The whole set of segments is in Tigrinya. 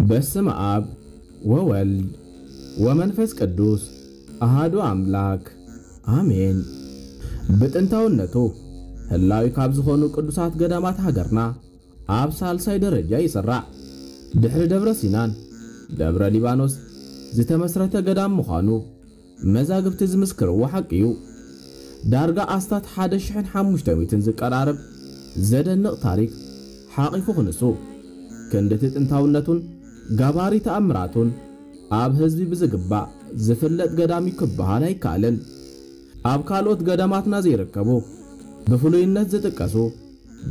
በስመ ኣብ ወወልድ ወመንፈስ ቅዱስ ኣሃዱ ኣምላክ ኣሜን። ብጥንታውነቱ ህላዊ ካብ ዝኾኑ ቅዱሳት ገዳማት ሃገርና ኣብ ሳልሳይ ደረጃ ይስራዕ። ድሕሪ ደብረ ሲናን ደብረ ሊባኖስ ዝተመስረተ ገዳም ምዃኑ መዛግብቲ ዝምስክርዎ ሓቂ እዩ። ዳርጋ ኣስታት ሓደ ሽሕን ሓሙሽተ ሚእትን ዝቀራረብ ዘደንቕ ታሪክ ሓቒፉ ክንሱ፣ ክንድቲ ጥንታውነቱን ጋባሪ ተኣምራቱን ኣብ ህዝቢ ብዝግባእ ዝፍለጥ ገዳም እዩ ክበሃል ኣይከኣልን። ኣብ ካልኦት ገዳማትና ዘይርከቡ ብፍሉይነት ዝጥቀሱ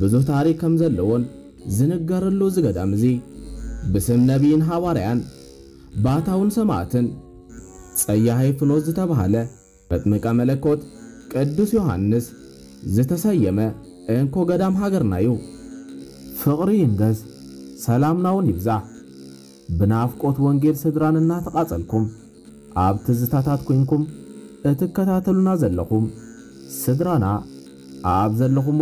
ብዙህ ታሪክ ከም ዘለዎን ዝንገረሉ እዚ ገዳም እዚ ብስም ነቢይን ሃዋርያን ባታውን ሰማዕትን ጸያሃይ ፍኖት ዝተባህለ መጥምቀ መለኮት ቅዱስ ዮሃንስ ዝተሰየመ እንኮ ገዳም ሃገርና እዩ። ፍቕሪ ይንገስ፣ ሰላምና እውን ይብዛሕ። ብናፍቆት ወንጌል ስድራን እናተቓጸልኩም ኣብ ትዝታታት ኮይንኩም እትከታተሉና ዘለኹም ስድራና ኣብ ዘለኹሞ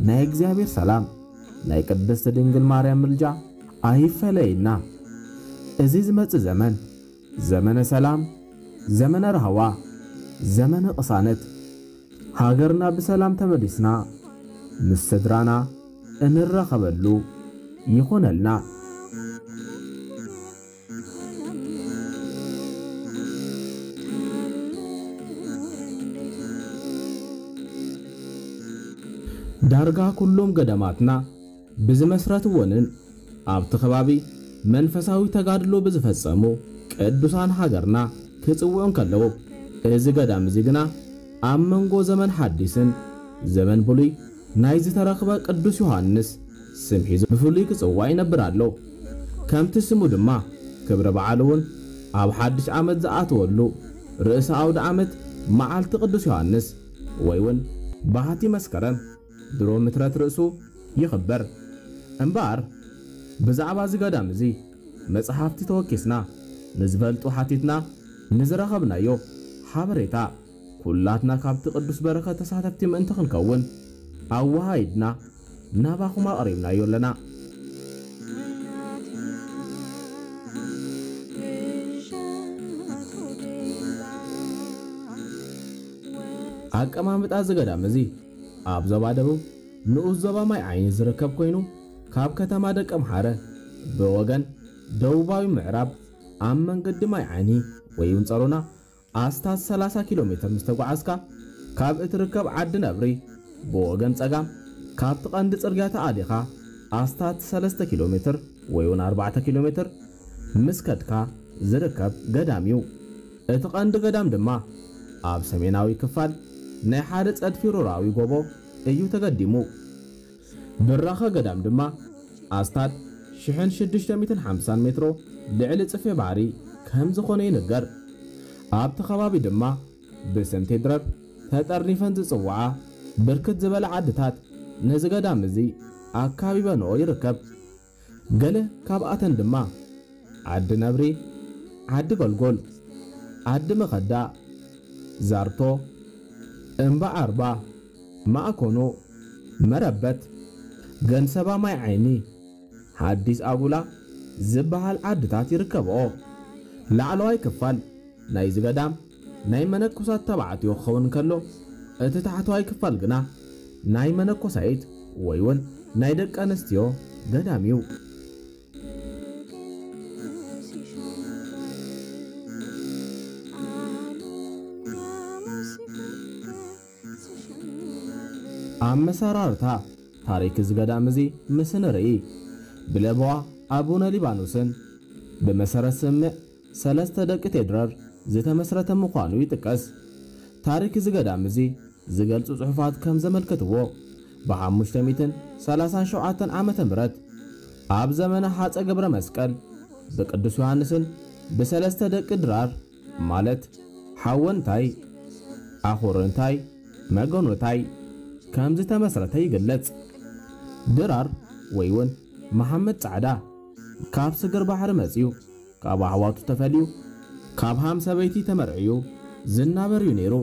ናይ እግዚኣብሔር ሰላም ናይ ቅድስት ድንግል ማርያም ምልጃ ኣይፈለየና። እዚ ዝመጽእ ዘመን ዘመነ ሰላም፣ ዘመነ ራህዋ፣ ዘመነ ቅሳነት፣ ሃገርና ብሰላም ተመሊስና ምስ ስድራና እንራኸበሉ ይኹነልና። ዳርጋ ኩሎም ገዳማትና ብዝመስረትዎንን ኣብቲ ከባቢ መንፈሳዊ ተጋድሎ ብዝፈጸሙ ቅዱሳን ሃገርና ክጽውዑ እንከለዉ፣ እዚ ገዳም እዚ ግና ኣብ መንጎ ዘመን ሓዲስን ዘመን ብሉይ ናይ ዝተረኽበ ቅዱስ ዮሃንስ ስም ሒዙ ብፍሉይ ክጽዋዕ ይነብር ኣሎ። ከምቲ ስሙ ድማ ክብረ በዓሉ እውን ኣብ ሓድሽ ዓመት ዝኣተወሉ ርእሰ ኣውደ ዓመት መዓልቲ ቅዱስ ዮሃንስ ወይ እውን ባህቲ መስከረም ድሮ ምትረት ርእሱ ይኽበር። እምበኣር ብዛዕባ እዚ ገዳም እዚ መጽሓፍቲ ተወኪስና ንዝፈልጡ ሓቲትና ንዝረኸብናዮ ሓበሬታ ኩላትና ካብቲ ቅዱስ በረኸት ተሳተፍቲ ምእንቲ ክንከውን ኣወሃሂድና ናባኹም ኣቕሪብናዮ ኣለና። ኣቀማምጣ እዚ ገዳም እዚ ኣብ ዞባ ደቡብ ንኡስ ዞባ ማይ ዓይኒ ዝርከብ ኮይኑ፣ ካብ ከተማ ደቀምሓረ ብወገን ደቡባዊ ምዕራብ ኣብ መንገዲ ማይ ዓይኒ ወይ እውን ጸሮና ኣስታት ሰላሳ ኪሎ ሜትር ምስ ተጓዓዝካ፣ ካብ እትርከብ ዓዲ ነብሪ ብወገን ጸጋም ካብቲ ቀንዲ ጽርግያ ተኣሊኻ ኣስታት ሰለስተ ኪሎ ሜትር ወይ እውን ኣርባዕተ ኪሎ ሜትር ምስ ከድካ ዝርከብ ገዳም እዩ። እቲ ቀንዲ ገዳም ድማ ኣብ ሰሜናዊ ክፋል ናይ ሓደ ጸድፊ ሩራዊ ጎቦ እዩ ተገዲሙ። ብራኸ ገዳም ድማ ኣስታት ሽሕን ሽዱሽተ ሚእትን ሓምሳን ሜትሮ ልዕሊ ጽፍሒ ባሕሪ ከም ዝኾነ ይንገር። ኣብቲ ከባቢ ድማ ብስም ቴድረር ተጠርኒፈን ዝጽውዓ ብርክት ዝበላ ዓድታት ነዚ ገዳም እዚ ኣካቢበንኦ ይርከብ። ገለ ካብኣተን ድማ ዓዲ ነብሪ፣ ዓዲ ገልጎል፣ ዓዲ መኸዳ፣ ዛርቶ፣ እምባ ዓርባ፣ ማእኮኖ፣ መረበት፣ ገንሰባ ማይ ዓይኒ፣ ሓዲስ ኣጉላ ዝበሃል ዓድታት ይርከብኦ። ላዕለዋይ ክፋል ናይዚ ገዳም ናይ መነኮሳት ተባዕትዮ ክኸውን ከሎ፣ እቲ ታሕተዋይ ክፋል ግና ናይ መነኮሳይት ወይ እውን ናይ ደቂ ኣንስትዮ ገዳም እዩ። ኣመሰራርታ ታሪክ እዚ ገዳም እዚ ምስ ንርኢ፣ ብለበዋ ኣቡነ ሊባኖስን ብመሰረት ስምዕ ሰለስተ ደቂ ቴድረር ዝተመስረተ ምዃኑ ይጥቀስ። ታሪክ እዚ ገዳም እዚ ዝገልጹ ጽሑፋት ከም ዘመልክትዎ፣ ብ ሓሙሽተ ሚእትን ሰላሳን ሸውዓተን ዓመተ ምህረት ኣብ ዘመነ ሃጸ ገብረ መስቀል ብቅዱስ ዮሃንስን ብሰለስተ ደቂ ድራር ማለት ሓወንታይ፣ ኣኹርንታይ፣ መገኖታይ ከም ዝተመስረተ ይግለጽ። ድራር ወይ እውን መሓመድ ጻዕዳ ካብ ስግር ባሕሪ መጺኡ፣ ካብ ኣሕዋቱ ተፈልዩ፣ ካብ ሃም ሰበይቲ ተመርዕዩ ዝናበር እዩ ነይሩ።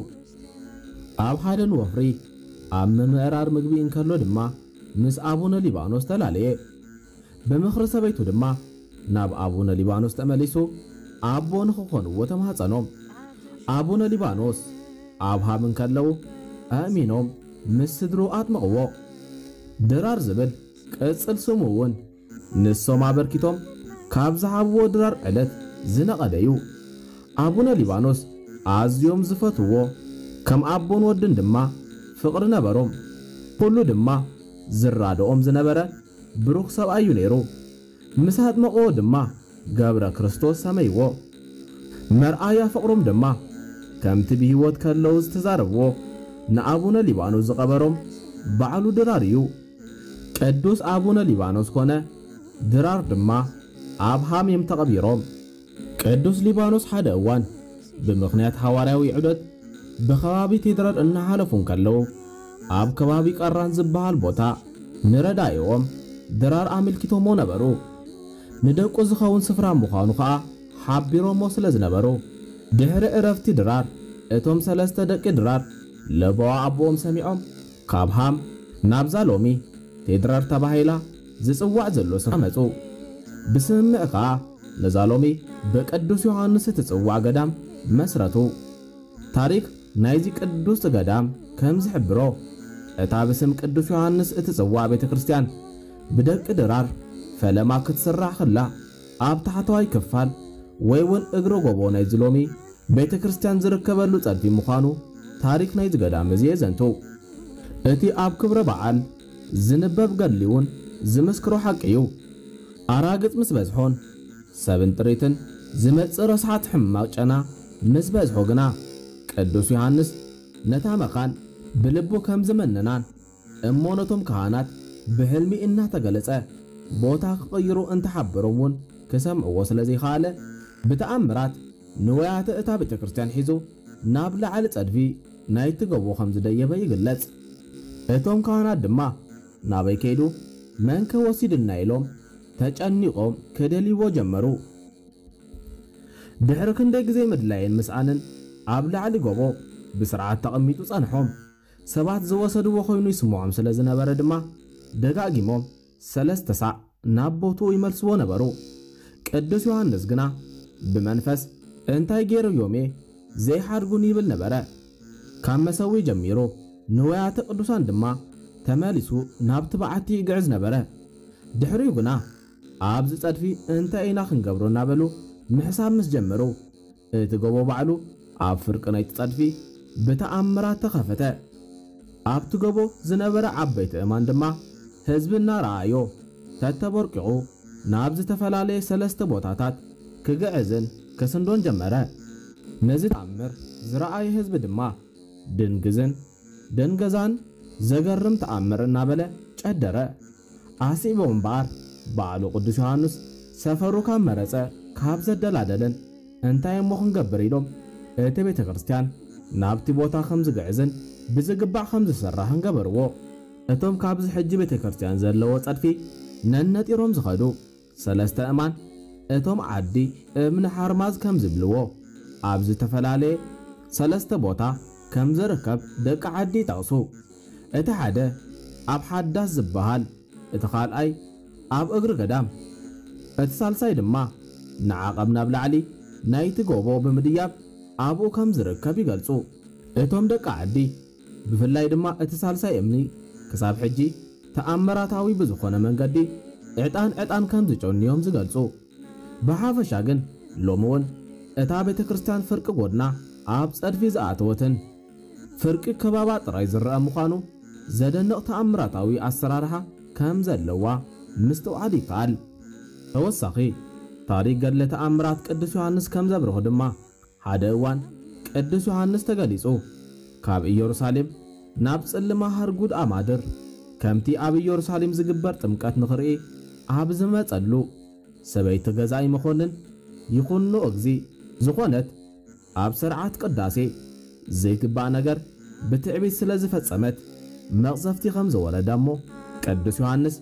ኣብ ሓደን ወፍሪ ኣብ ምምእራር ምግቢ እንከሎ ድማ ምስ ኣቡነ ሊባኖስ ተላለየ። ብምኽሪ ሰበይቱ ድማ ናብ ኣቡነ ሊባኖስ ተመሊሱ ኣቦ ንኽኾንዎ ተማህጸኖም። ኣቡነ ሊባኖስ ኣብ ሃም እንከለዉ ኣእሚኖም ምስ ስድሩ ኣጥመቕዎ። ድራር ዝብል ቅጽል ስሙ እውን ንሶም ኣበርኪቶም ካብ ዝሃብዎ ድራር ዕለት ዝነቐለ እዩ። ኣቡነ ሊባኖስ ኣዝዮም ዝፈትዎ፣ ከም ኣቦን ወድን ድማ ፍቕሪ ነበሮም። ኩሉ ድማ ዝራድኦም ዝነበረ ብሩኽ ሰብኣይ እዩ ነይሩ። ምስ ኣጥመቕዎ ድማ ገብረ ክርስቶስ ሰመይዎ። መርኣያ ፍቕሮም ድማ ከምቲ ብህይወት ከለዉ ዝተዛረብዎ ንኣቡነ ሊባኖስ ዝቐበሮም ባዕሉ ድራር እዩ። ቅዱስ ኣቡነ ሊባኖስ ኮነ ድራር ድማ ኣብ ሃም እዮም ተቐቢሮም። ቅዱስ ሊባኖስ ሓደ እዋን ብምኽንያት ሃዋርያዊ ዑደት ብከባቢ ቴድራር እናሓለፉ እንከለዉ ኣብ ከባቢ ቀራን ዝበሃል ቦታ ንረዳኢኦም ድራር ኣመልኪቶሞ ነበሩ። ንደቁ ዝኸውን ስፍራ ምዃኑ ኸኣ ሓቢሮሞ ስለ ዝነበሩ ድሕሪ ዕረፍቲ ድራር እቶም ሰለስተ ደቂ ድራር ለበዋ ኣቦኦም ሰሚዖም ካብ ሃም ናብዛ ሎሚ ቴድራር ተባሂላ ዝጽዋዕ ዘሎ ስፍራ መጹ። ብስምምዕ ከኣ ነዛ ሎሚ ብቅዱስ ዮሃንስ እትጽዋዕ ገዳም መስረቱ። ታሪኽ ናይዚ ቅዱስ ገዳም ከም ዝሕብሮ፣ እታ ብስም ቅዱስ ዮሃንስ እትጽዋዕ ቤተ ክርስቲያን ብደቂ ድራር ፈለማ ክትስራሕ ከላ ኣብ ታሕተዋይ ክፋል ወይ እውን እግሪ ጎቦ ናይዚ ሎሚ ቤተ ክርስቲያን ዝርከበሉ ጸድፊ ምዃኑ ታሪኽ ናይዚ ገዳም እዚ የዘንቱ። እቲ ኣብ ክብረ በዓል ዝንበብ ገድሊ እውን ዝምስክሮ ሓቂ እዩ። ኣራግጽ ምስ በዝሖን ሰብን ጥሪትን ዝመጽእ ረስሓት ሕማቕ ጨና ምስ በዝሖ ግና ቅዱስ ዮሃንስ ነታ መኻን ብልቡ ከም ዝመነናን እሞ ነቶም ካህናት ብሕልሚ እናተገለጸ ቦታ ክቕይሩ እንተሓበሮም እውን ክሰምዕዎ ስለ ዘይኸኣለ ብተኣምራት ንዋያተ እታ ቤተ ክርስቲያን ሒዙ ናብ ላዕሊ ጸድፊ ናይቲ ጎቦ ከም ዝደየበ ይግለጽ። እቶም ካህናት ድማ ናበይ ከይዱ መንከ ወሲድና ኢሎም ተጨኒቖም ክደልይዎ ጀመሩ። ድሕሪ ክንደይ ግዜ ምድላይን ምስኣንን ኣብ ላዕሊ ጎቦ ብስርዓት ተቐሚጡ ጸንሖም። ሰባት ዝወሰድዎ ኮይኑ ይስምዖም ስለ ዝነበረ ድማ ደጋጊሞም ሰለስተ ሳዕ ናብ ቦትኡ ይመልስዎ ነበሩ። ቅዱስ ዮሃንስ ግና ብመንፈስ እንታይ ገይረዮም እየ ዘይሓድጉን ይብል ነበረ። ካብ መሰዊ ጀሚሩ ንዋያተ ቅዱሳን ድማ ተመሊሱ ናብቲ በዓቲ ይግዕዝ ነበረ። ድሕሪኡ ግና ኣብዚ ጸድፊ እንታይ ኢና ክንገብሮ እናበሉ ምሕሳብ ምስ ጀመሩ እቲ ጎቦ ባዕሉ ኣብ ፍርቂ ናይቲ ጸድፊ ብተኣምራት ተኸፈተ። ኣብቲ ጎቦ ዝነበረ ዓበይቲ እማን ድማ ህዝቢ እናረኣዮ ተተቦርቂቑ ናብ ዝተፈላለየ ሰለስተ ቦታታት ክግዕዝን ክስንዶን ጀመረ። ነዚ ተኣምር ዝረኣየ ህዝቢ ድማ ድንግዝን ደንገዛን ዘገርም ተኣምር እናበለ ጨደረ። ኣስዒቦም እምበኣር ባዕሉ ቅዱስ ዮሃንስ ሰፈሩ ካብ መረጸ ካብ ዘደላደለን እንታይ እሞ ክንገብር ኢሎም እቲ ቤተ ክርስቲያን ናብቲ ቦታ ከም ዝግዕዝን ብዝግባዕ ከም ዝስራሕን ገበርዎ። እቶም ካብዚ ሕጂ ቤተ ክርስቲያን ዘለዎ ጸድፊ ነነጢሮም ዝኸዱ ሰለስተ እማን እቶም ዓዲ እምኒ ሓርማዝ ከም ዝብልዎ ኣብ ዝተፈላለየ ሰለስተ ቦታ ከም ዝርከብ ደቂ ዓዲ ይጠቕሱ። እቲ ሓደ ኣብ ሓዳስ ዝበሃል፣ እቲ ካልኣይ ኣብ እግሪ ገዳም፣ እቲ ሳልሳይ ድማ ንዓቐብ ናብ ላዕሊ ናይቲ ጎቦ ብምድያብ ኣብኡ ከም ዝርከብ ይገልጹ። እቶም ደቂ ዓዲ ብፍላይ ድማ እቲ ሳልሳይ እምኒ ክሳብ ሕጂ ተኣምራታዊ ብዝኾነ መንገዲ ዕጣን ዕጣን ከም ዝጨንዮም ዝገልጹ። ብሓፈሻ ግን ሎሚ እውን እታ ቤተ ክርስቲያን ፍርቂ ጎድና ኣብ ጸድፊ ዝኣተወትን ፍርቂ ከባባ ጥራይ ዝረአ ምዃኑ ዘደንቕ ተኣምራታዊ ኣሰራርሓ ከም ዘለዋ ምስትውዓል ይከኣል። ተወሳኺ ታሪኽ ገድለ ተኣምራት ቅዱስ ዮሃንስ ከም ዘብርሆ ድማ ሓደ እዋን ቅዱስ ዮሃንስ ተገሊጹ ካብ ኢየሩሳሌም ናብ ጽልማ ሃርጉድ ኣማድር ከምቲ ኣብ ኢየሩሳሌም ዝግበር ጥምቀት ንኽርኢ ኣብ ዝመጸሉ ሰበይቲ ገዛኢ መኮንን ይኹኖ እግዚ ዝኾነት ኣብ ስርዓት ቅዳሴ ዘይግባእ ነገር ብትዕቢት ስለ ዝፈጸመት መቕሰፍቲ ከም ዝወረዳ እሞ ቅዱስ ዮሃንስ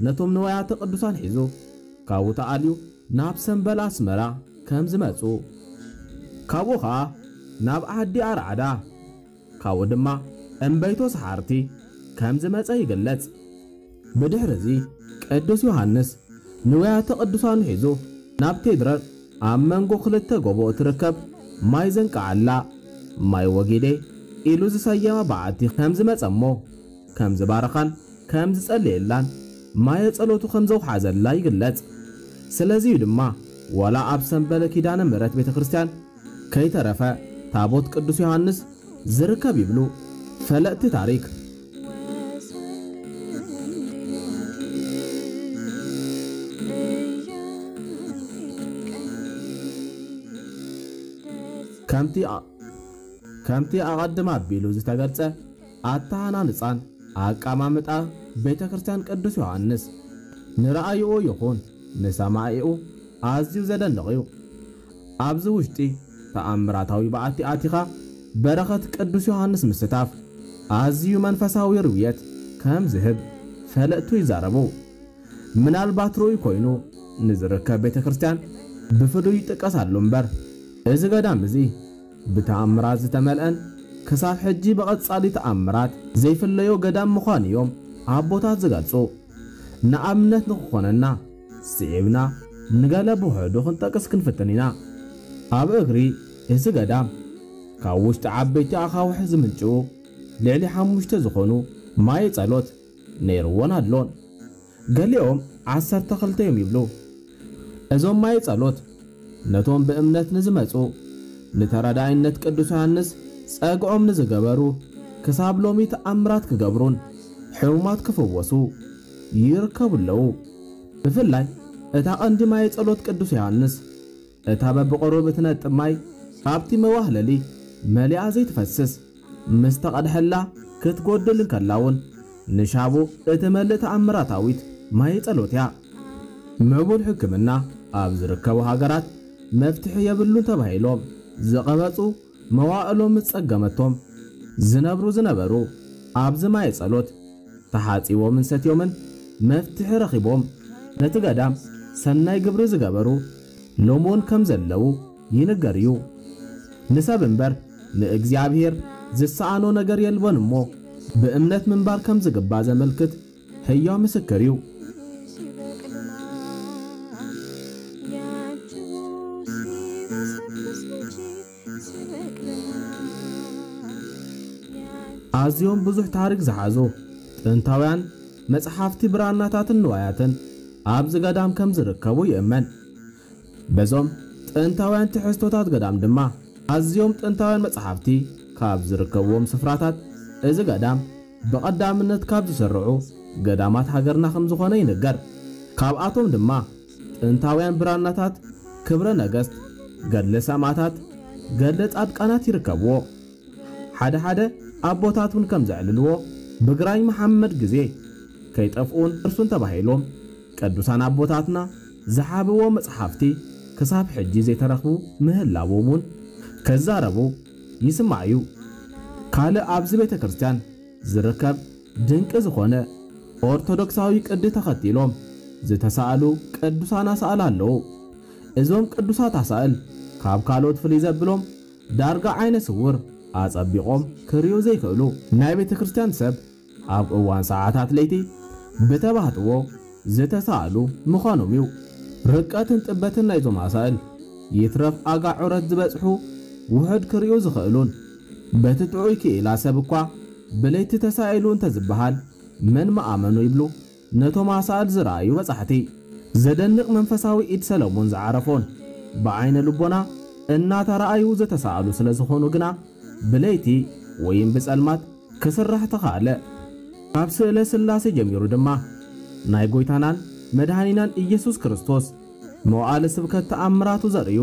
ነቶም ንዋያተ ቅዱሳን ሒዙ ካብኡ ተኣልዩ ናብ ሰምበል ኣስመራ ከም ዝመጹ፣ ካብኡ ኸኣ ናብ ዓዲ ኣርዓዳ፣ ካብኡ ድማ እምበይቶ ሰሓርቲ ከም ዝመጸ ይግለጽ። ብድሕሪ እዚ ቅዱስ ዮሃንስ ንዋያተ ቅዱሳኑ ሒዙ ናብ ቴድረር ኣብ መንጎ ክልተ ጎቦ እትርከብ ማይ ዘንቃዓላ፣ ማይ ወጊዴ ኢሉ ዝሰየማ በዓቲ ከም ዝመጸ እሞ ከም ዝባረኻን ከም ዝጸለየላን ማየ ጸሎቱ ከም ዘውሓዘላ ይግለጽ። ስለዚዩ ድማ ዋላ ኣብ ሰምበለ ኪዳነ ምሕረት ቤተ ክርስቲያን ከይተረፈ ታቦት ቅዱስ ዮሃንስ ዝርከብ ይብሉ ፈለጥቲ ታሪክ። ከምቲ ኣ-፣ ከምቲ ኣቐድም ኣቢሉ ዝተገልጸ ኣተሃናንጻን ኣቀማምጣ ቤተ ክርስቲያን ቅዱስ ዮሃንስ ንረኣይኡ ይኹን ንሰማዒኡ ኣዝዩ ዘደንቕ እዩ። ኣብዚ ውሽጢ ተኣምራታዊ በዓቲ ኣቲኻ በረኸት ቅዱስ ዮሃንስ ምስታፍ ኣዝዩ መንፈሳዊ ርውየት ከም ዝህብ ፈለጥቱ ይዛረቡ። ምናልባት ርኡይ ኮይኑ ንዝርከብ ቤተ ክርስቲያን ብፍሉይ ይጥቀስ ኣሎ እምበር፣ እዚ ገዳም እዚ ብተኣምራት ዝተመልአን ክሳብ ሕጂ ብቐጻሊ ተኣምራት ዘይፍለዮ ገዳም ምዃኑ እዮም ኣቦታት ዝገልጹ። ንኣብነት ንኽኾነና ስዒብና ንገለ ብውሑዱ ክንጠቅስ ክንፍትን ኢና። ኣብ እግሪ እዚ ገዳም ካብ ውሽጢ ዓበይቲ ኣኻውሕ ዝምንጭዉ ልዕሊ ሓሙሽተ ዝኾኑ ማየ ጸሎት ነይርዎን ኣሎን። ገሊኦም ዓሰርተ ክልተ እዮም ይብሉ። እዞም ማየ ጸሎት ነቶም ብእምነት ንዝመጹ፣ ንተረዳኢነት ቅዱስ ዮሃንስ ጸግዖም ንዝገበሩ፣ ክሳብ ሎሚ ተኣምራት ክገብሩን ሕሙማት ክፍወሱ ይርከቡ ኣለዉ። ብፍላይ እታ ቀንዲ ማየ ጸሎት ቅዱስ ዮሃንስ፣ እታ በብቕሩብ እትነጥብ ማይ ካብቲ መዋህለሊ መሊኣ ዘይትፈስስ፣ ምስ ተቐድሐላ ክትጎድል እንከላ እውን ንሻቡ እትመልእ ተኣምራታዊት ማየ ጸሎት እያ። ምዕቡል ሕክምና ኣብ ዝርከቡ ሃገራት መፍትሒ የብሉን ተባሂሎም ዝቐበጹ፣ መዋእሎም ምስ ጸገመቶም ዝነብሩ ዝነበሩ ኣብዚ ማየ ጸሎት ተሓጺቦምን ሰትዮምን መፍትሒ ረኺቦም ነቲ ገዳም ሰናይ ግብሪ ዝገበሩ ሎምውን ከም ዘለዉ ይንገር እዩ። ንሰብ እምበር ንእግዚኣብሔር ዝሰኣኖ ነገር የልቦን እሞ ብእምነት ምንባር ከም ዝግባእ ዘመልክት ህያው ምስክር እዩ። ኣዝዮም ብዙሕ ታሪክ ዝሓዙ ጥንታውያን መጽሓፍቲ፣ ብራናታትን ንዋያትን ኣብዚ ገዳም ከም ዝርከቡ ይእመን። በዞም ጥንታውያን ትሕዝቶታት ገዳም ድማ ኣዝዮም ጥንታውያን መጽሓፍቲ ካብ ዝርከብዎም ስፍራታት እዚ ገዳም ብቐዳምነት ካብ ዝስርዑ ገዳማት ሃገርና ከም ዝኾነ ይንገር። ካብኣቶም ድማ ጥንታውያን ብራናታት ክብረ ነገስት፣ ገድለ ሰማዕታት፣ ገድለ ጻድቃናት ይርከብዎ። ሓደ ሓደ ኣቦታት እውን ከም ዘዕልልዎ ብግራኝ መሓመድ ግዜ ከይጠፍኡን እርሱን ተባሂሎም ቅዱሳን ኣቦታትና ዝሓብዎ መጽሓፍቲ ክሳብ ሕጂ ዘይተረኽቡ ምህላዎም እውን ክዛረቡ ይስማዕ እዩ። ካልእ ኣብዚ ቤተ ክርስቲያን ዝርከብ ድንቂ ዝኾነ ኦርቶዶክሳዊ ቅዲ ተኸቲሎም ዝተሳእሉ ቅዱሳን ኣሳእል ኣለዉ። እዞም ቅዱሳት ኣሳእል ካብ ካልኦት ፍልይ ዘብሎም ዳርጋ ዓይነ ስውር ኣጸቢቖም ክርእዩ ዘይክእሉ ናይ ቤተ ክርስቲያን ሰብ ኣብ እዋን ሰዓታት ለይቲ ብተባህትዎ ዝተሳእሉ ምዃኖም እዩ። ርቀትን ጥበትን ናይዞም ኣሳእል ይትረፍ ኣጋ ዑረት ዝበጽሑ ውሑድ ክርእዩ ዝኽእሉን በቲ ጥዑይ ክኢላ ሰብ እኳ ብለይቲ ተሳኢሉ እንተዝበሃል መን ምኣመኖ ይብሉ ነቶም ኣሳእል ዝረኣዩ በጻሕቲ። ዘደንቕ መንፈሳዊ ኢድ ሰለሞን ዝዓረፎን ብዓይነ ልቦና እናተረኣዩ ዝተሳእሉ ስለ ዝኾኑ ግና ብለይቲ ወይም ብጸልማት ክስራሕ ተኻእለ። ካብ ስእለ ሥላሴ ጀሚሩ ድማ ናይ ጐይታናን መድኃኒናን ኢየሱስ ክርስቶስ መዋዕለ ስብከት ተኣምራቱ ዘርእዩ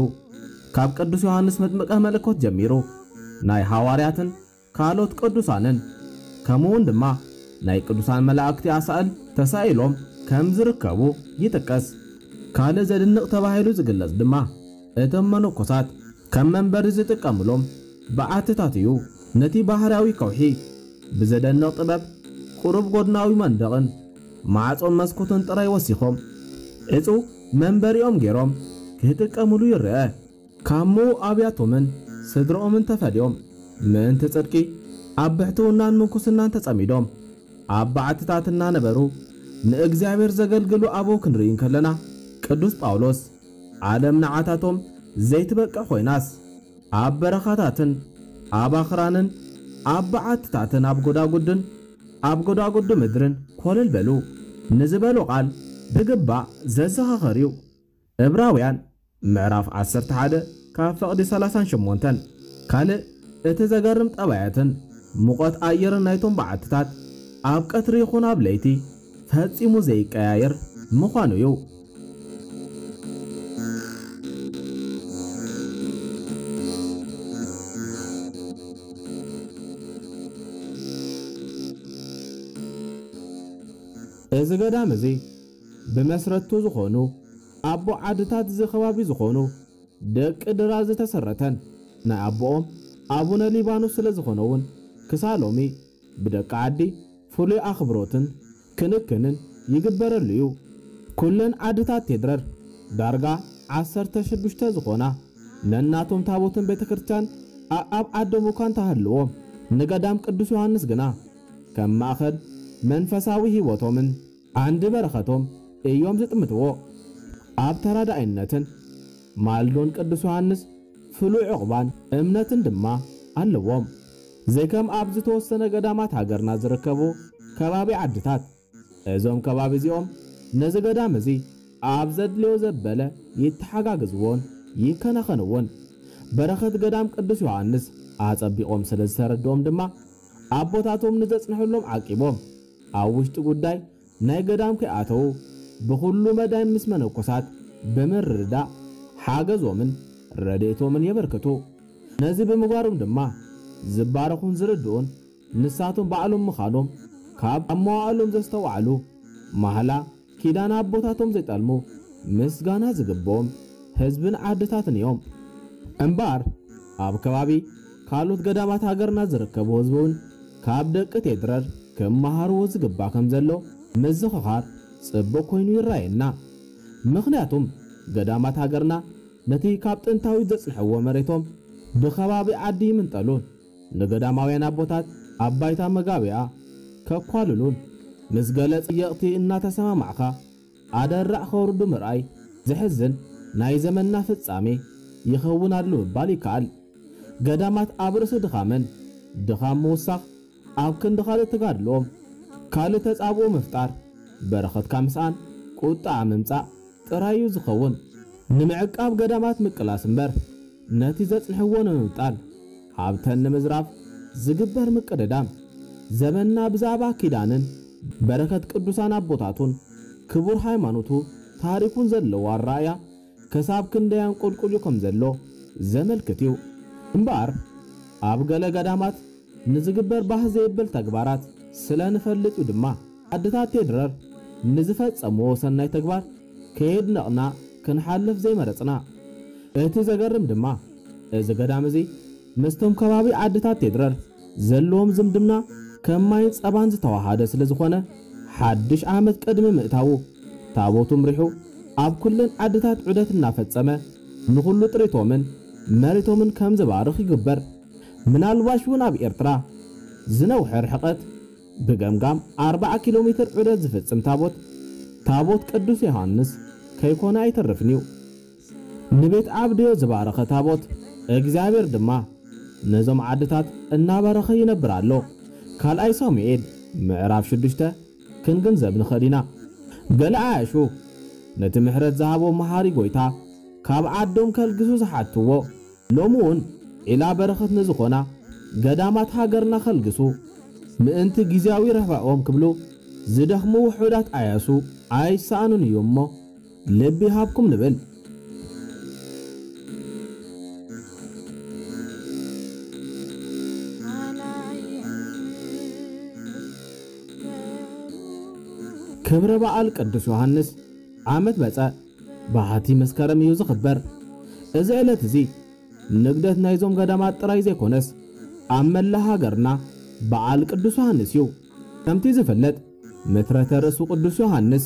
ካብ ቅዱስ ዮሐንስ መጥምቀ መለኮት ጀሚሩ ናይ ሃዋርያትን ካልኦት ቅዱሳንን ከምኡውን ድማ ናይ ቅዱሳን መላእክቲ ኣሳእል ተሳኢሎም ከም ዝርከቡ ይጥቀስ። ካልእ ዘድንቕ ተባሂሉ ዝግለጽ ድማ እቶም መነኮሳት ከም መንበሪ ዝጥቀምሎም በዓትታት እዩ። ነቲ ባህርያዊ ከውሒ ብዘደንቕ ጥበብ ቁሩብ ጎድናዊ መንደቕን ማዕጾን መስኮትን ጥራይ ወሲኾም፣ ዕጹው መንበሪኦም ገይሮም ክጥቀምሉ ይረአ። ካብ ምዉእ ኣብያቶምን ስድራኦምን ተፈልዮም፣ ምእንቲ ጽድቂ ኣብ ብሕትውናን ምንኩስናን ተጸሚዶም ኣብ በዓትታት እናነበሩ ንእግዚኣብሔር ዘገልግሉ ኣበው ክንርኢ እንከለና፣ ቅዱስ ጳውሎስ፣ "ዓለም ንዓታቶም ዘይትበቅዕ ኮይናስ፣ ኣብ በረኻታትን ኣብ ኣኽራንን ኣብ በዓትታትን ኣብ ጎዳጉድን ኣብ ጎዳጉዲ ምድርን ኮለል በሉ" ንዝበሎ ቃል ብግባእ ዘዘኻኸር እዩ። ዕብራውያን ምዕራፍ ዓሰርተ ሓደ ካብ ፈቕዲ ሰላሳን ሸሞንተን። ካልእ እቲ ዘገርም ጠባያትን ሙቐት ኣየርን ናይቶም በዓትታት ኣብ ቀትሪ ይኹን ኣብ ለይቲ ፈጺሙ ዘይቀያየር ምዃኑ እዩ። እዚ ገዳም እዚ ብመስረቱ ዝኾኑ ኣቦ ዓድታት እዚ ከባቢ ዝኾኑ ደቂ ድራ ዝተሰረተን ናይ ኣቦኦም ኣቡነ ሊባኖስ ስለ ዝኾነ እውን ክሳብ ሎሚ ብደቂ ዓዲ ፍሉይ ኣኽብሮትን ክንክንን ይግበረሉ እዩ። ኩለን ዓድታት ቴድረር ዳርጋ ዓሰርተ ሽዱሽተ ዝኾና ነናቶም ታቦትን ቤተክርስትያን ኣኣብ ዓዶም እኳ እንተሃልዎም፣ ንገዳም ቅዱስ ዮሃንስ ግና ከም ማእኸል መንፈሳዊ ህይወቶምን ዓንዲ በረኸቶም እዮም ዝጥምትዎ። ኣብ ተራዳኢነትን ማልዶን ቅዱስ ዮሃንስ ፍሉይ ዕቑባን እምነትን ድማ ኣለዎም። ዘይከም ኣብ ዝተወሰነ ገዳማት ሃገርና ዝርከቡ ከባቢ ዓድታት፣ እዞም ከባቢ እዚኦም ነዚ ገዳም እዚ ኣብ ዘድልዮ ዘበለ ይተሓጋግዝዎን ይከናኸንዎን። በረኸት ገዳም ቅዱስ ዮሃንስ ኣጸቢቖም ስለ ዝተረድኦም ድማ፣ ኣቦታቶም ንዘጽንሕሎም ዓቂቦም ኣብ ውሽጢ ጉዳይ ናይ ገዳም ከይኣተዉ ብኹሉ መዳይ ምስ መነኮሳት ብምርድዳእ ሓገዞምን ረድኤቶምን የበርክቱ። ነዚ ብምግባሮም ድማ ዝባረኹን ዝርድኡን ንሳቶም ባዕሎም ምዃኖም ካብ ኣብ መዋእሎም ዘስተውዓሉ፣ ማህላ ኪዳን ኣቦታቶም ዘይጠልሙ፣ ምስጋና ዝግብኦም ህዝብን ዓድታትን እዮም። እምበኣር ኣብ ከባቢ ካልኦት ገዳማት ሃገርና ዝርከቡ ህዝቢ እውን ካብ ደቂ ቴድረር ክመሃርዎ ዝግባእ ከም ዘሎ ምዝኽኻር ጽቡቕ ኮይኑ ይረኣየና። ምኽንያቱም ገዳማት ሃገርና ነቲ ካብ ጥንታዊ ዘጽንሕዎ መሬቶም ብከባቢ ዓዲ ይምንጠሉን ንገዳማውያን ኣቦታት ኣብ ባይታ መጋቢያ ከኳልሉን ምስ ገለ ጸየቕቲ እናተሰማማዕካ ኣደራዕ ከውርዱ ምርኣይ ዘሕዝን ናይ ዘመንና ፍጻሜ ይኸውን ኣሎ ምባል ይከኣል። ገዳማት ኣብ ርእሲ ድኻመን ድኻም ምውሳኽ፣ ኣብ ክንዲ ካልእ ተጋድሎኦም ካልእ ተጻብኦ ምፍጣር፣ በረኸትካ ምስኣን ቁጥዓ ምምጻእ ጥራይ እዩ ዝኸውን። ንምዕቃብ ገዳማት ምቅላስ እምበር ነቲ ዘጽንሕዎ ንምምጣል ሃብተን ንምዝራፍ ዝግበር ምቅድዳም፣ ዘመንና ብዛዕባ ኪዳንን በረኸት ቅዱሳን ኣቦታቱን ክቡር ሃይማኖቱ ታሪኹን ዘለዎ ኣረኣእያ ከሳብ ክንደይ ኣንቆልቁልዩ ከም ዘሎ ዘመልክት እዩ። እምበኣር ኣብ ገለ ገዳማት ንዝግበር ባህ ዘይብል ተግባራት ስለ ንፈልጥ እዩ ድማ፣ ኣድታት ቴድረር ንዝፈጸምዎ ሰናይ ተግባር ከየድነቕና ክንሓልፍ ዘይመረጽና። እቲ ዘገርም ድማ፣ እዚ ገዳም እዚ ምስቶም ከባቢ ዓድታት ቴድረር ዘለዎም ዝምድና ከም ማይን ጸባን ዝተዋሃደ ስለ ዝኾነ፣ ሓድሽ ዓመት ቅድሚ ምእታዉ ታቦቱ ምሪሑ ኣብ ኩለን ዓድታት ዑደት እናፈጸመ ንኹሉ ጥሪቶምን መሬቶምን ከም ዝባርኽ ይግበር። ምናልባሽ እውን ኣብ ኤርትራ ዝነውሐ ርሕቐት ብገምጋም ኣርብዓ ኪሎ ሜትር ዑደት ዝፍጽም ታቦት፣ ታቦት ቅዱስ ዮሃንስ ከይኮነ ኣይተርፍን እዩ። ንቤት ዓብድዮ ዝባረኸ ታቦት እግዚኣብሔር ድማ ነዞም ዓድታት እናባረኸ ይነብር ኣሎ። ካልኣይ ሳሙኤል ምዕራፍ ሽዱሽተ ክንግንዘብ ንኽእል ኢና። ገለ ዓያሹ ነቲ ምሕረት ዝሃቦ መሃሪ ጎይታ ካብ ዓዶም ከልግሱ ዝሓትዎ፣ ሎሚ እውን ዒላ በረኸት ንዝኾና ገዳማት ሃገርና ከልግሱ ምእንቲ ግዜያዊ ረብሕኦም ክብሉ ዝደኽሙ ውሑዳት ዓያሱ ኣይሰኣኑን እዩ እሞ፣ ልቢ ይሃብኩም ንብል። ክብረ በዓል ቅዱስ ዮሃንስ ዓመት መጸ ብሓቲ መስከረም እዩ ዝኽበር። እዚ ዕለት እዚ ንግደት ናይዞም ገዳማት ጥራይ ዘይኮነስ፣ ኣብ መላእ ሃገርና በዓል ቅዱስ ዮሃንስ እዩ። ከምቲ ዝፍለጥ፣ ምትረተ ርእሱ ቅዱስ ዮሃንስ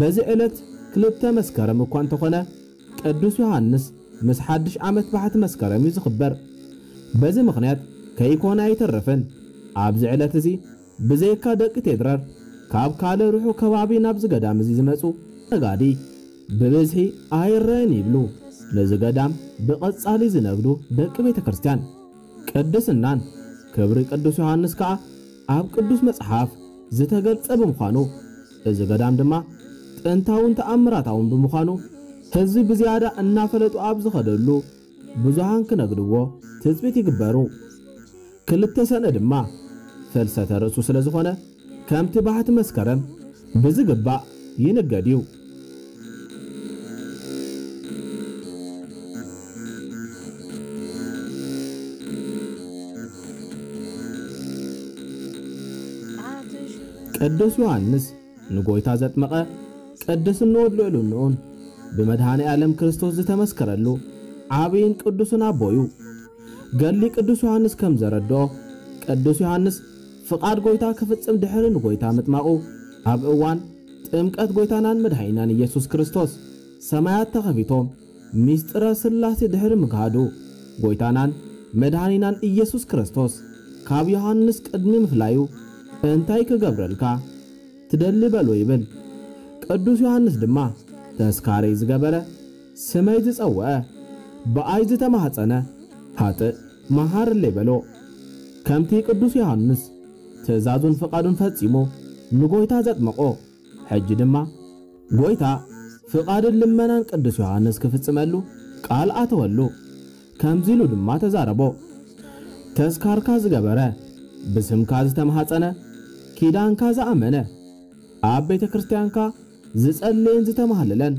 በዚ ዕለት ክልተ መስከረም እኳ እንተኾነ፣ ቅዱስ ዮሃንስ ምስ ሓድሽ ዓመት ባሕቲ መስከረም እዩ ዝኽበር። በዚ ምኽንያት ከይኮነ ኣይተርፍን። ኣብዚ ዕለት እዚ ብዘይካ ደቂ ቴድረር ካብ ካልእ ርሑቕ ከባቢ ናብዚ ገዳም እዚ ዝመጹ ነጋዲ ብብዝሒ ኣይረኣን ይብሉ። ነዚ ገዳም ብቐጻሊ ዝነግዱ ደቂ ቤተ ክርስቲያን ቅድስናን ክብሪ ቅዱስ ዮሃንስ ከኣ ኣብ ቅዱስ መጽሓፍ ዝተገልጸ ብምዃኑ፣ እዚ ገዳም ድማ ጥንታውን ተኣምራታውን ብምዃኑ፣ ህዝቢ ብዝያዳ እናፈለጡ ኣብ ዝኸደሉ ብዙሃን ክነግድዎ ትጽቢት ይግበሩ። ክልተ ሰነ ድማ ፍልሰተ ርእሱ ስለ ዝኾነ፣ ከምቲ ባሕቲ መስከረም ብዝግባእ ይንገድ እዩ። ቅዱስ ዮሃንስ ንጎይታ ዘጥመቐ፣ ቅድስንኡ ልዕልንኡን ብመድኃኔ ዓለም ክርስቶስ ዝተመስከረሉ ዓብይን ቅዱስን ኣቦ እዩ። ገድሊ ቅዱስ ዮሃንስ ከም ዘረድኦ፣ ቅዱስ ዮሃንስ ፍቓድ ጎይታ ክፍጽም ድሕሪ ንጎይታ ምጥማቑ፣ ኣብ እዋን ጥምቀት ጎይታናን መድኃኒናን ኢየሱስ ክርስቶስ ሰማያት ተኸፊቶም፣ ምስጢረ ሥላሴ ድሕሪ ምግሃዱ፣ ጎይታናን መድኃኒናን ኢየሱስ ክርስቶስ ካብ ዮሃንስ ቅድሚ ምፍላዩ፣ "እንታይ ክገብረልካ ትደሊ?" በሎ ይብል። ቅዱስ ዮሃንስ ድማ፣ "ተስካረይ ዝገበረ፣ ስመይ ዝጸውዐ፣ ብኣይ ዝተማህጸነ፣ ሃጥእ መሃርለይ" በሎ። ከምቲ ቅዱስ ዮሃንስ ትእዛዙን ፍቓዱን ፈጺሙ ንጎይታ ዘጥመቖ፣ ሕጂ ድማ ጎይታ ፍቓድን ልመናን ቅዱስ ዮሃንስ ክፍጽመሉ ቃል ኣተወሉ። ከምዚ ኢሉ ድማ ተዛረቦ፣ "ተስካርካ ዝገበረ፣ ብስምካ ዝተማህጸነ፣ ኪዳንካ ዝኣመነ፣ ኣብ ቤተ ክርስቲያንካ ዝጸለየን ዝተማህለለን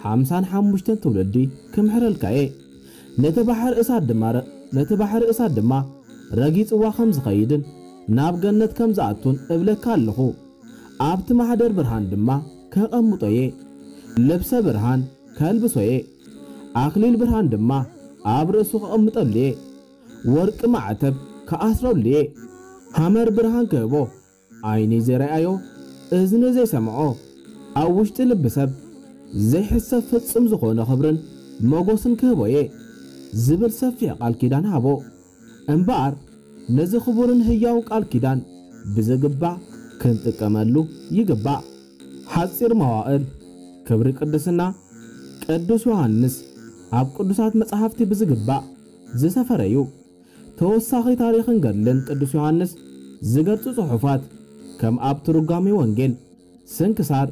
ሓምሳን ሓሙሽተን ትውልዲ ክምሕረልካ እየ። ነቲ ባሕሪ እሳት ድማ ረ-፣ ነቲ ባሕሪ እሳት ድማ ረጊጽዋ ከም ዝኸይድን ናብ ገነት ከም ዝኣቱን እብለካ ኣለኹ። ኣብቲ ማሕደር ብርሃን ድማ ከቐምጦ እየ። ልብሰ ብርሃን ከልብሶ እየ። ኣኽሊል ብርሃን ድማ ኣብ ርእሱ ከቐምጠሉ እየ። ወርቂ ማዕተብ ከኣስረሉ እየ። ሃመር ብርሃን ክህቦ፣ ዓይኒ ዘይረኣዮ፣ እዝኒ ዘይሰምዖ፣ ኣብ ውሽጢ ልቢ ሰብ ዘይሕሰብ ፍጹም ዝኾነ ክብርን መጎስን ክህቦ እየ" ዝብል ሰፊሕ ቃል ኪዳን ሃቦ። እምበኣር ነዚ ክቡርን ህያውን ቃል ኪዳን ብዝግባእ ክንጥቀመሉ ይግባእ። ሓጺር መዋእል ክብሪ ቅድስና ቅዱስ ዮሃንስ ኣብ ቅዱሳት መጻሕፍቲ ብዝግባእ ዝሰፈረ እዩ። ተወሳኺ ታሪኽን ገድልን ቅዱስ ዮሃንስ ዝገልጹ ጽሑፋት ከም ኣብ ትርጓሜ ወንጌል፣ ስንክሳር፣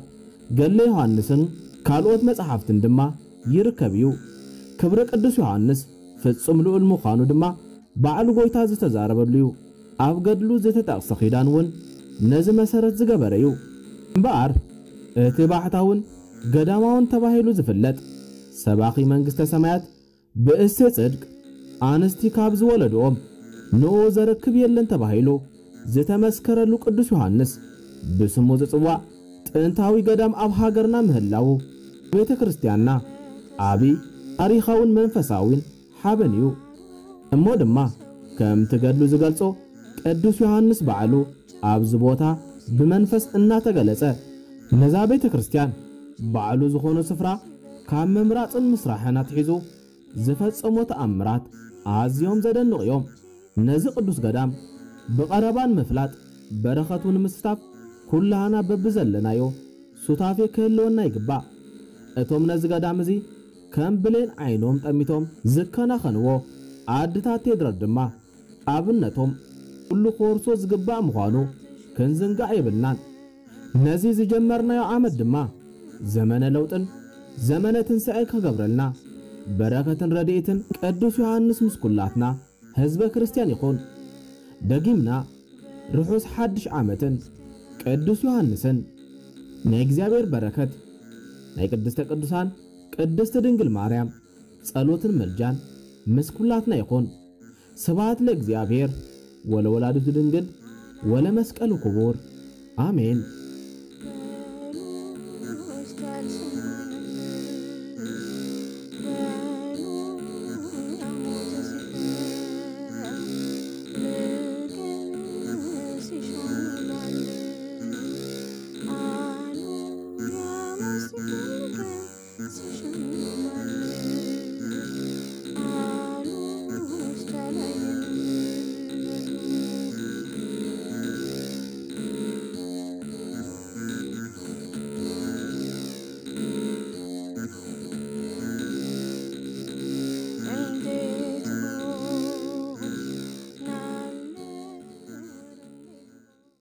ገድለ ዮሃንስን ካልኦት መጻሕፍትን ድማ ይርከብ እዩ። ክብሪ ቅዱስ ዮሃንስ ፍጹም ልኡል ምዃኑ ድማ ባዕሉ ጎይታ ዝተዛረበሉ እዩ። ኣብ ገድሉ ዝተጠቕሰ ኪዳን እውን ነዚ መሰረት ዝገበረ እዩ። እምበኣር እቲ ባሕታውን ገዳማውን ተባሂሉ ዝፍለጥ ሰባኺ መንግስተ ሰማያት ብእሴ ጽድቅ ኣንስቲ ካብ ዝወለድኦም ንኡ ዘረክብ የለን ተባሂሉ ዝተመስከረሉ ቅዱስ ዮሃንስ ብስሙ ዝጽዋዕ ጥንታዊ ገዳም ኣብ ሃገርና ምህላዉ ቤተ ክርስቲያንና ዓቢ ታሪኻውን መንፈሳዊን ሓበን እዩ። እሞ ድማ ከምቲ ገድሉ ዝገልጾ ቅዱስ ዮሃንስ ባዕሉ ኣብዚ ቦታ ብመንፈስ እናተገለጸ ነዛ ቤተ ክርስቲያን ባዕሉ ዝኾኖ ስፍራ ካብ ምምራጽን ምስራሕን ኣትሒዙ ዝፈጸሞ ተኣምራት ኣዝዮም ዘደንቑ እዮም። ነዚ ቅዱስ ገዳም ብቐረባ ንምፍላጥ በረኸቱ ንምስታፍ ኩላህና በብዘለናዮ ሱታፌ ክህልወና ይግባእ። እቶም ነዚ ገዳም እዚ ከም ብሌን ዓይኖም ጠሚቶም ዝከናኸንዎ ኣድታት ቴድሮስ ድማ ኣብነቶም ኩሉ ክወርሶ ዝግባእ ምዃኑ ክንዝንጋዕ የብልናን። ነዚ ዝጀመርናዮ ዓመት ድማ ዘመነ ለውጥን ዘመነ ትንሳኤ ክገብረልና በረከትን ረድኤትን ቅዱስ ዮሃንስ ምስ ኩላትና ህዝበ ክርስቲያን ይኹን። ደጊምና ርሑስ ሓድሽ ዓመትን ቅዱስ ዮሃንስን ናይ እግዚኣብሔር በረከት ናይ ቅድስተ ቅዱሳን ቅድስት ድንግል ማርያም ጸሎትን መልጃን ምስ ኩላትና ይኹን። ስብሐት ለእግዚኣብሔር ወለወላዲቱ ድንግል ወለመስቀሉ ክቡር። ኣሜን።